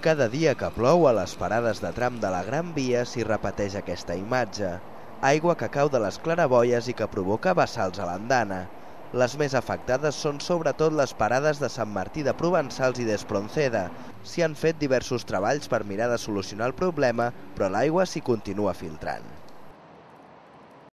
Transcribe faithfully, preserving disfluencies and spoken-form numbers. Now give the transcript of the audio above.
Cada dia que plou, a les parades de tram de la Gran Via s'hi repeteix aquesta imatge. Aigua que cau de les claraboies i que provoca vessals a l'andana. Les més afectades són sobretot les parades de Sant Martí de Provençals i d'Espronceda. S'hi han fet diversos treballs per mirar de solucionar el problema, però l'aigua s'hi continua filtrant.